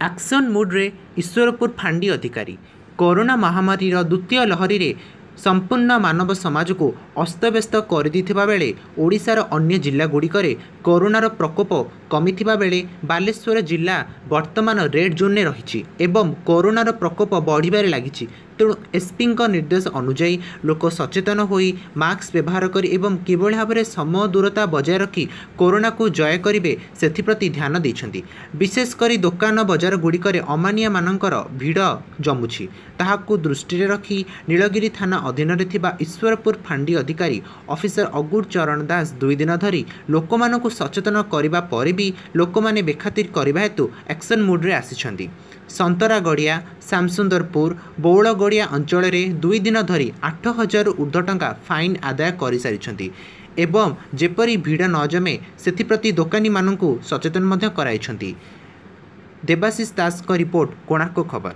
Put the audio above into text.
Action ମୁଡ୍ରେ Ishwarpur ଫାଣ୍ଡି ଅଧିକାରୀ। Corona ମହାମାରୀର ଦ୍ୱିତୀୟ ଲହରୀରେ ସମ୍ପୂର୍ଣ୍ଣ ମାନବ ସମାଜକୁ ଅସ୍ତବ୍ୟସ୍ତ କରିଦେଇଥିବା ବେଳେ ଓଡ଼ିଶାର ଅନ୍ୟ ଜିଲ୍ଲାଗୁଡ଼ିକରେ କରୋନାର ପ୍ରକୋପ କମିଥିବା ବେଳେ ବାଲେଶ୍ୱର ଜିଲ୍ଲା ବର୍ତ୍ତମାନ ରେଡ୍ ଜୋନ୍ରେ ରହିଛି ଏବଂ କରୋନାର ପ୍ରକୋପ ବଢ଼ିବାରେ ଲାଗିଛି। ତେଣୁ ଏସ୍ପିଙ୍କ ନିର୍ଦ୍ଦେଶ ଅନୁଯାୟୀ ଲୋକ ସଚେତନ ହୋଇ ମାସ୍କ ବ୍ୟବହାର କରି ଏବଂ କିଭଳି ଭାବରେ ସମ ଦୂରତା ବଜାୟ ରଖି କରୋନାକୁ ଜୟ କରିବେ ସେଥିପ୍ରତି ଧ୍ୟାନ ଦେଇଛନ୍ତି। ବିଶେଷ କରି ଦୋକାନ ବଜାରଗୁଡ଼ିକରେ ଅମାନିଆମାନଙ୍କର ଭିଡ଼ ଜମୁଛି, ତାହାକୁ ଦୃଷ୍ଟିରେ ରଖି ନୀଳଗିରି ଥାନା ଅଧୀନରେ ଥିବା ଈଶ୍ୱରପୁର ଫାଣ୍ଡି ଅଧିକାରୀ ଅଫିସର ଅଗୁର ଚରଣ ଦାସ 2 ଦିନ ଧରି ଲୋକମାନଙ୍କୁ ସଚେତନ କରିବା ପରେ ବି ଲୋକମାନେ ବେଖାତିର କରିବା ହେତୁ ଆକ୍ସନ୍ ମୁଡ୍ରେ ଆସିଛନ୍ତି। ସନ୍ତରାଗଡ଼ିଆ, ଶ୍ୟାମସୁନ୍ଦରପୁର, ବଉଳଗଡ଼ିଆ ଅଞ୍ଚଳରେ 2 ଦିନ ଧରି 8000ରୁ ଉର୍ଦ୍ଧ୍ୱ ଟଙ୍କା ଫାଇନ୍ ଆଦାୟ କରିସାରିଛନ୍ତି ଏବଂ ଯେପରି ଭିଡ଼ ନ ଜମେ ସେଥିପ୍ରତି ଦୋକାନୀମାନଙ୍କୁ ସଚେତନ ମଧ୍ୟ କରାଇଛନ୍ତି। ଦେବାଶିଷ ଦାସଙ୍କ ରିପୋର୍ଟ, କୋଣାର୍କ ଖବର।